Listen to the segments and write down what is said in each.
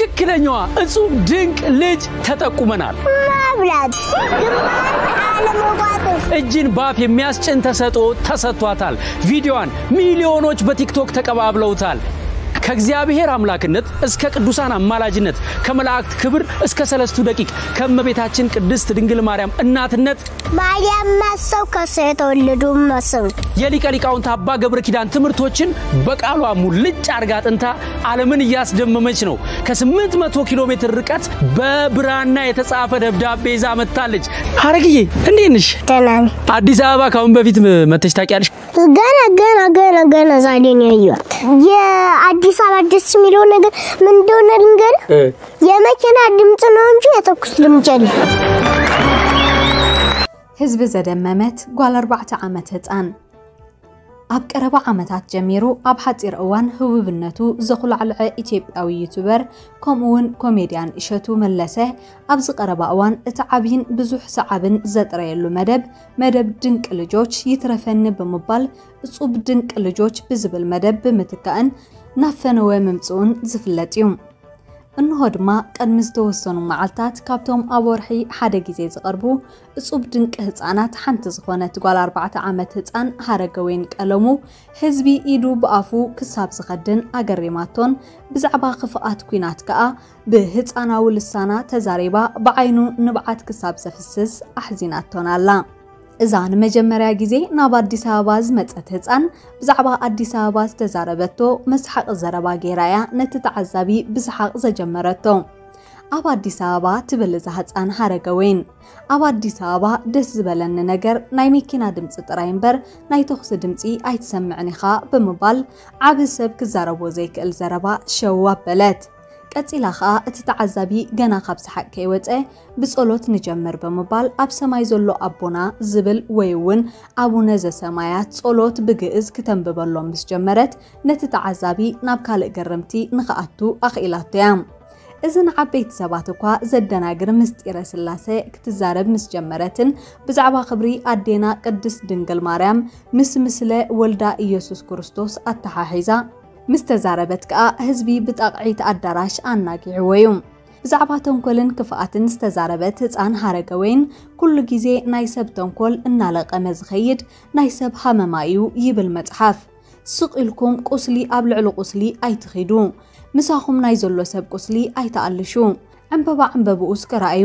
ትክክለኛዋ እጹብ ድንቅ ልጅ ተጠቁመናል። መብላት ግንባር አለመቋጥር እጅን ባፍ የሚያስጭን ተሰጥኦ ተሰጥቷታል። ቪዲዮዋን ሚሊዮኖች በቲክቶክ ተቀባብለውታል። ከእግዚአብሔር አምላክነት እስከ ቅዱሳን አማላጅነት፣ ከመላእክት ክብር እስከ ሰለስቱ ደቂቅ፣ ከእመቤታችን ቅድስት ድንግል ማርያም እናትነት ማርያም መሰው ከሰው የተወለዱ መሰው የሊቀ ሊቃውንት አባ ገብረ ኪዳን ትምህርቶችን በቃሏ ሙልጭ አርጋ አጥንታ ዓለምን እያስደመመች ነው። ከ800 ኪሎ ሜትር ርቀት በብራና የተጻፈ ደብዳቤ ይዛ መጥታለች። ሐረግዬ፣ እንዴት ነሽ? ደህና ነኝ። አዲስ አበባ ካሁን በፊት መተሽ ታውቂያለሽ? ገና ገና ገና ገና ዛሬ ነው ያየኋት። የአዲስ አበባ ደስ የሚለው ነገር ምን እንደሆነ ልንገርህ። የመኪና ድምፅ ነው እንጂ የተኩስ ድምፅ የለም። ህዝቢ ዘደመመት ጓል ኣርባዕተ ዓመት ህፃን። ኣብ ቀረባ ዓመታት ጀሚሩ ኣብ ሓፂር እዋን ህውብነቱ ዘኹላዕልዐ ኢትዮጵያዊ ዩቱበር ከምኡውን ኮሜድያን እሸቱ መለሰ ኣብዚ ቀረባ እዋን እቲ ዓብይን ብዙሕ ሰዓብን ዘጥረየሉ መደብ መደብ ድንቅ ልጆች ይትረፈኒ ብምባል እጹብ ድንቅ ልጆች ብዝብል መደብ ብምትካእን ናብ ፈነወ ምምፅኡን ዝፍለጥ እዩ። እንሆ ድማ ቅድሚ ዝተወሰኑ መዓልታት ካብቶም ኣብ ወርሒ ሓደ ግዜ ዝቐርቡ እጹብ ድንቂ ህጻናት ሓንቲ ዝኾነት ጓል ኣርባዕተ ዓመት ህጻን ሃረገወይን ቀለሙ ህዝቢ ኢዱ ብኣፉ ክሳብ ዝኸድን ኣገሪማቶን ብዛዕባ ክፍኣት ኲናት ከኣ ብህጻናዊ ልሳና ተዛሪባ ብዓይኑ ንብዓት ክሳብ ዘፍስስ ኣሕዚናቶን ኣላ። እዛ ንመጀመርያ ግዜ ናብ ኣዲስ ኣበባ ዝመጸት ህጻን ብዛዕባ ኣዲስ ኣበባ ዝተዛረበቶ መስሓቂ ዘረባ ገይራ እያ ነቲ ተዓዛቢ ብሰሓቕ ዘጀመረቶ። ኣብ ኣዲስ ኣበባ ትብል እዛ ህጻን ሃረገወይን። ኣብ ኣዲስ ኣበባ ደስ ዝበለኒ ነገር ናይ መኪና ድምጺ ጥራይ እምበር ናይ ተኹሲ ድምጺ ኣይትሰምዕን ኢኻ ብምባል ዓቢ ሰብ ክዛረቦ ዘይክእል ዘረባ ሸው ኣበለት። ቀጺላ ኸኣ እቲ ተዓዛቢ ገና ካብ ሰሓቕ ከይወጸ ብጸሎት ንጀምር ብምባል ኣብ ሰማይ ዘሎ ኣቦና ዝብል ወይ እውን ኣቡነ ዘሰማያት ጸሎት ብግእዝ ክተንብበሎም ምስ ጀመረት ነቲ ተዓዛቢ ናብ ካልእ ግርምቲ ንኽኣቱ ኣኽኢላቶ እያ። እዚ ንዓበይቲ ሰባት እኳ ዘደናግር ምስጢረ ስላሴ ክትዛረብ ምስ ጀመረትን ብዛዕባ ክብሪ ኣዴና ቅድስት ድንግል ማርያም ምስ ምስለ ወልዳ ኢየሱስ ክርስቶስ ኣተሓሒዛ ምስ ተዛረበት ከኣ ህዝቢ ብጣቕዒት ኣዳራሽ ኣናጊዕዎ እዩ። ብዛዕባ ተንኮልን ክፍኣትን ዝተዛረበት ህፃን ሃረገወይን ኩሉ ግዜ ናይ ሰብ ተንኮል እናለቐመ ዝኸይድ ናይ ሰብ ሃመማ እዩ ይብል መፅሓፍ። ስቕ ኢልኩም ቁስሊ ኣብ ልዕሊ ቁስሊ ኣይትኺዱ። ምሳኹም ናይ ዘሎ ሰብ ቁስሊ ኣይትኣልሹ። ዕምበባ ዕምበብኡ እስከ ረኣዩ።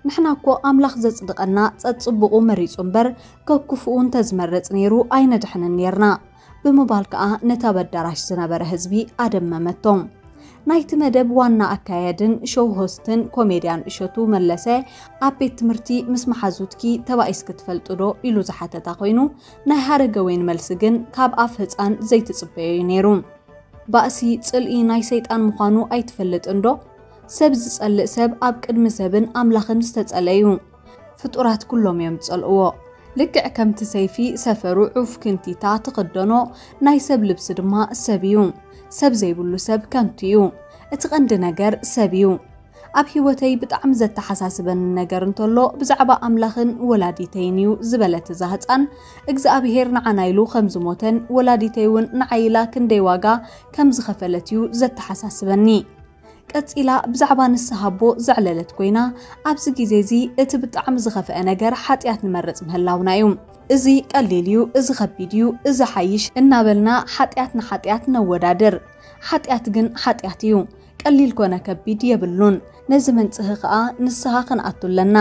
ንሕና እኮ ኣምላኽ ዘጽድቐና ጸጽቡቑ መሪጹ እምበር ከክፉኡ እንተዝመርጽ ነይሩ ኣይነድሕንን ኔርና ብምባል ከኣ ነቲ ኣብ ኣዳራሽ ዝነበረ ህዝቢ ኣደመመቶ። ናይቲ መደብ ዋና ኣካያድን ሾው ሆስትን ኮሜድያን እሸቱ መለሰ ኣብ ቤት ትምህርቲ ምስ መሓዙትኪ ተባኢስኪ ትፈልጢ ዶ ኢሉ ዝሓተታ ኮይኑ ናይ ሃረገወይን መልሲ ግን ካብ ኣፍ ህጻን ዘይትጽበዮ እዩ ነይሩ። ባእሲ ጽልኢ ናይ ሰይጣን ምዃኑ ኣይትፈልጥን ዶ? ሰብ ዝጸልእ ሰብ ኣብ ቅድሚ ሰብን ኣምላኽን ዝተጸለ እዩ። ፍጡራት ኩሎም እዮም ዝጸልእዎ። ልክዕ ከምቲ ሰይፊ ሰፈሩ ዑፍ ክንቲታ ትኽደኖ ናይ ሰብ ልብሲ ድማ ሰብ እዩ። ሰብ ዘይብሉ ሰብ ከንቱ እዩ። እቲ ቀንዲ ነገር ሰብ እዩ። ኣብ ህይወተይ ብጣዕሚ ዘተሓሳስበኒ ነገር እንተሎ ብዛዕባ ኣምላኽን ወላዲተይን እዩ ዝበለት እዛ ህፃን እግዚኣብሄር ንዓና ኢሉ ከም ዝሞተን ወላዲተይ እውን ንዓይ ኢላ ክንደይ ዋጋ ከም ዝኸፈለት እዩ ዘተሓሳስበኒ። ቀጺላ ብዛዕባ ንስሃ ኣቦ ዘዕለለት ኮይና ኣብዚ ግዜ እዚ እቲ ብጣዕሚ ዝኸፍአ ነገር ሓጢኣት ንመርጽ ምህላውና እዩ። እዚ ቀሊል እዩ፣ እዚ ከቢድ እዩ፣ እዚ ሓይሽ እናበልና ሓጢኣት ንሓጢኣት ነወዳድር። ሓጢኣት ግን ሓጢኣት እዩ። ቀሊል ኮነ ከቢድ የብሉን። ነዚ መንጽሂ ከኣ ንስሃ ክንኣቱ ኣለና።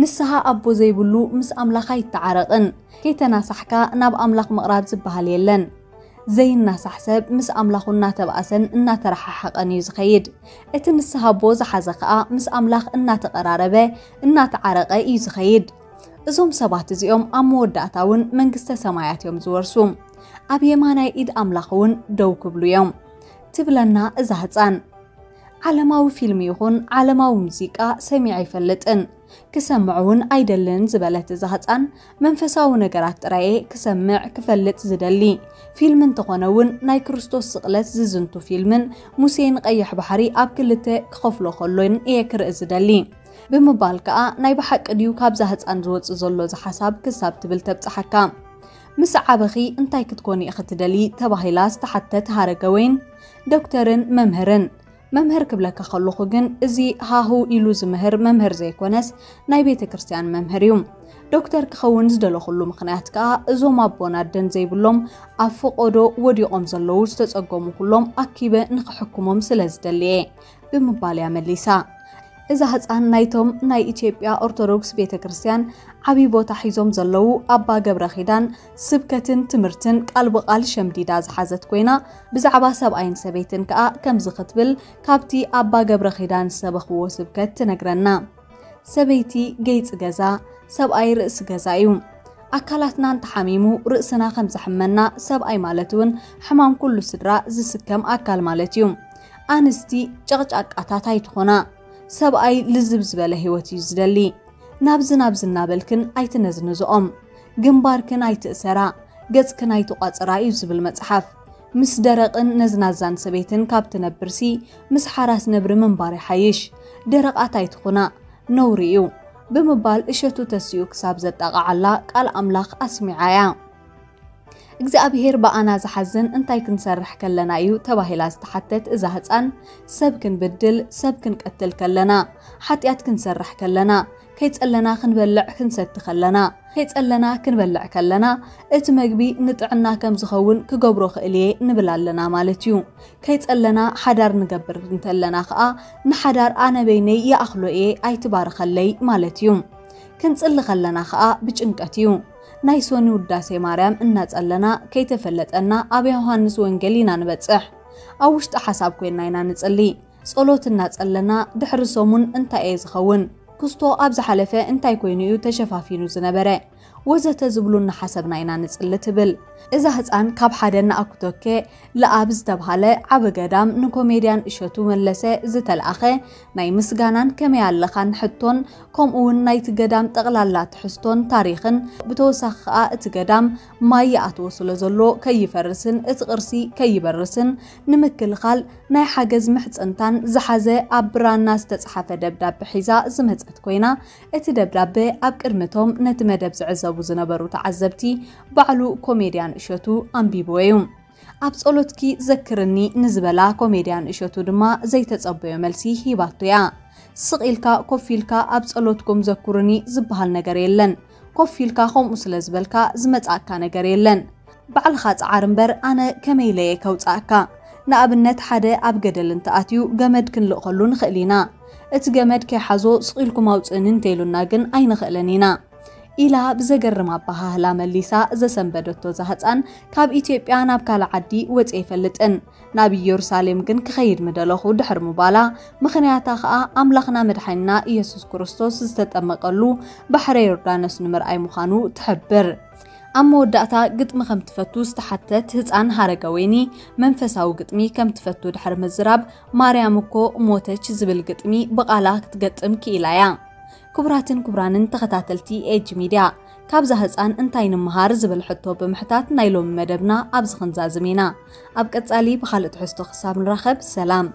ንስሃ ኣቦ ዘይብሉ ምስ ኣምላኽ ኣይተዓረቕን። ከይተናሳሕካ ናብ ኣምላኽ ምቕራብ ዝበሃል የለን። ዘይናሳሕ ሰብ ምስ ኣምላኹ እናተባእሰን እናተረሓሓቐን እዩ ዝኸይድ። እቲ ንስሃ ኣቦ ዝሓዘ ከኣ ምስ ኣምላኽ እናተቐራረበ እናተዓረቐ እዩ ዝኸይድ። እዞም ሰባት እዚኦም ኣብ መወዳእታ እውን መንግስተ ሰማያት እዮም ዝወርሱ። ኣብ የማናይ ኢድ ኣምላኽ እውን ደው ክብሉ እዮም ትብለና እዛ ህፃን። ዓለማዊ ፊልም ይኹን ዓለማዊ ሙዚቃ ሰሚዐ ኣይፈልጥን፣ ክሰምዕ እውን ኣይደልን ዝበለት እዛ ህፃን መንፈሳዊ ነገራት ጥራየ ክሰምዕ ክፈልጥ ዝደሊ። ፊልም እንተኾነ እውን ናይ ክርስቶስ ስቕለት ዝዝንቱ ፊልምን ሙሴ ንቐይሕ ባሕሪ ኣብ ክልተ ክኸፍሎ ከሎን እየ ክርኢ ዝደሊ ብምባል ከኣ ናይ ብሓቂ ድዩ ካብዛ ህፃን ዝወፅእ ዘሎ እዚ ሓሳብ ክሳብ ትብል ተብፅሓካ። ምስ ዓበኺ እንታይ ክትኮኒ ኢኺ ትደሊ ተባሂላ ዝተሓተት ሃረገወይን ዶክተርን መምህርን መምህር ክብለካ ከለኹ ግን፣ እዚ ሃሁ ኢሉ ዝምህር መምህር ዘይኮነስ፣ ናይ ቤተ ክርስቲያን መምህር እዩ። ዶክተር ክኸውን ዝደለኹሉ ምኽንያት ከኣ፣ እዞም ኣቦን ኣደን ዘይብሎም፣ ኣብ ፈቖዶ ወዲቖም ዘለዉ ዝተጸገሙ ኩሎም ኣኪበ ንኽሕክሞም ስለ ዝደሊ እየ ብምባል እያ መሊሳ። እዛ ህጻን ናይቶም ናይ ኢትዮጵያ ኦርቶዶክስ ቤተ ክርስቲያን ዓቢ ቦታ ሒዞም ዘለዉ ኣባ ገብረ ኪዳን ስብከትን ትምህርትን ቃል ብቓል ሸምዲዳ ዝሓዘት ኮይና፣ ብዛዕባ ሰብኣይን ሰበይትን ከኣ ከምዚ ክትብል ካብቲ ኣባ ገብረ ኪዳን ዝሰበኽዎ ስብከት ትነግረና። ሰበይቲ ገይጺ ገዛ፣ ሰብኣይ ርእሲ ገዛ እዩ። ኣካላትና እንተሓሚሙ ርእስና ከም ዘሕመና፣ ሰብኣይ ማለት እውን ሕማም ኩሉ ስድራ ዝስከም ኣካል ማለት እዩ። ኣንስቲ ጨቕጫቃታት ኣይትኾና። ሰብኣይ ልዝብ ዝበለ ህይወት እዩ ዝደሊ። ናብዚ ናብዚ እናበልክን ኣይትነዝንዝኦም። ግንባርክን ኣይትእሰራ፣ ገጽክን ኣይትቋጽራ እዩ ዝብል መጽሓፍ። ምስ ደረቕን ነዝናዛን ሰበይትን ካብ ትነብርሲ፣ ምስ ሓራስ ነብሪ ምንባር ይሓይሽ። ደረቓት ኣይትኹና፣ ነውሪ እዩ ብምባል እሸቱ ተሲኡ ክሳብ ዘጣቕዓላ ቃል ኣምላኽ ኣስሚዓ እያ። እግዚኣብሔር ብኣና ዝሓዝን እንታይ ክንሰርሕ ከለና እዩ ተባሂላ ዝተሓተት እዛ ህጻን፣ ሰብ ክንብድል፣ ሰብ ክንቀትል ከለና፣ ሓጢኣት ክንሰርሕ ከለና፣ ከይጸለና ክንበልዕ ክንሰቲ ከለና፣ ከይጸለና ክንበልዕ ከለና፣ እቲ መግቢ ንጥዕና ከም ዝኸውን ክገብሮ ክእል እየ ንብል ኣለና ማለት እዩ። ከይጸለና ሓዳር ንገብር እንተለና ከኣ፣ ንሓዳር ኣነ በይነይ ይኣኽሎ እየ ኣይትባርኸለይ ማለት እዩ። ክንጽሊ ከለና ከኣ ብጭንቀት እዩ። ናይ ሶኒ ውዳሴ ማርያም እናጸለና ከይተፈለጠና ኣብ ዮሃንስ ወንጌል ኢና ንበጽሕ። ኣብ ውሽጢ ሓሳብ ኮይና ኢና ንጽሊ። ጸሎት እናጸለና ድሕሪ ሰሙን እንታይ እየ ዝኸውን? ክስቶ ኣብ ዝሓለፈ እንታይ ኮይኑ እዩ ተሸፋፊኑ ዝነበረ? ወዘተ ዝብሉ እናሓሰብና ኢና ንጽሊ ትብል። እዛ ህጻን ካብ ሓደ እናኣኩቶኬ ለኣብ ዝተብሃለ ዓቢ ገዳም ንኮሜድያን እሸቱ መለሰ ዝተልኣኸ ናይ ምስጋናን ከመይ ኣለኻን ሕቶን፣ ከምኡ እውን ናይቲ ገዳም ጠቕላላ ትሕዝቶን ታሪኽን፣ ብተወሳኺ ከኣ እቲ ገዳም ማይ ይኣትዎ ስለ ዘሎ ከይፈርስን እቲ ቅርሲ ከይበርስን ንምክልኻል ናይ ሓገዝ ምሕጽንታን ዝሓዘ ኣብ ብራና ዝተጽሓፈ ደብዳበ ሒዛ ዝመጸት ኮይና፣ እቲ ደብዳበ ኣብ ቅድሚቶም ነቲ መደብ ዝዕዘቡ ዝነበሩ ተዓዘብቲ ባዕሉ ኮሜድያን እሸቱ ኣንቢብዎ እዩ። ኣብ ጸሎትኪ ዘክርኒ ንዝበላ ኮሜድያን እሸቱ ድማ ዘይተጸበዮ መልሲ ሂባቶ እያ። ስቕ ኢልካ ኮፍ ኢልካ ኣብ ጸሎትኩም ዘኩርኒ ዝበሃል ነገር የለን። ኮፍ ኢልካ ከምኡ ስለ ዝበልካ ዝመጻእካ ነገር የለን። ባዕልኻ ጸዓር እምበር ኣነ ከመይ ኢለ እየ ከውጽኣካ? ንኣብነት ሓደ ኣብ ገደል እንተኣትዩ ገመድ ክንልእኸሉ ንኽእል ኢና። እቲ ገመድ ከይሓዞ ስቕ ኢልኩም ኣውጽእኒ እንተኢሉና ግን ኣይንኽእልን ኢና። ኢላ ብዘገርም ኣበሃህላ መሊሳ ዘሰንበደቶ እዛ ህጻን፣ ካብ ኢትዮጵያ ናብ ካልእ ዓዲ ወጺኤ ኣይፈልጥን፣ ናብ ኢየሩሳሌም ግን ክኸይድ ምደለኹ ድሕሪ ምባላ፣ ምኽንያታ ኸኣ ኣምላኽና መድሓኒና ኢየሱስ ክርስቶስ ዝተጠመቐሉ ባሕረ ዮርዳኖስ ንምርኣይ ምዃኑ ትሕብር። ኣብ መወዳእታ ግጥሚ ከም ትፈቱ ዝተሓተት ህጻን ሃረገወይኒ፣ መንፈሳዊ ግጥሚ ከም ትፈቱ ድሕሪ ምዝራብ፣ ማርያም እኮ ሞተች ዝብል ግጥሚ ብቓላ ክትገጥም ክኢላ እያ። ክቡራትን ክቡራንን ተኸታተልቲ ኤጅ ሚድያ፣ ካብዛ ህጻን እንታይ ንምሃር ዝብል ሕቶ ብምሕታት ናይ ሎሚ መደብና ኣብዚ ክንዛዝም ኢና። ኣብ ቀጻሊ ብኻልእ ትሕዝቶ ክሳብ ንራኸብ፣ ሰላም።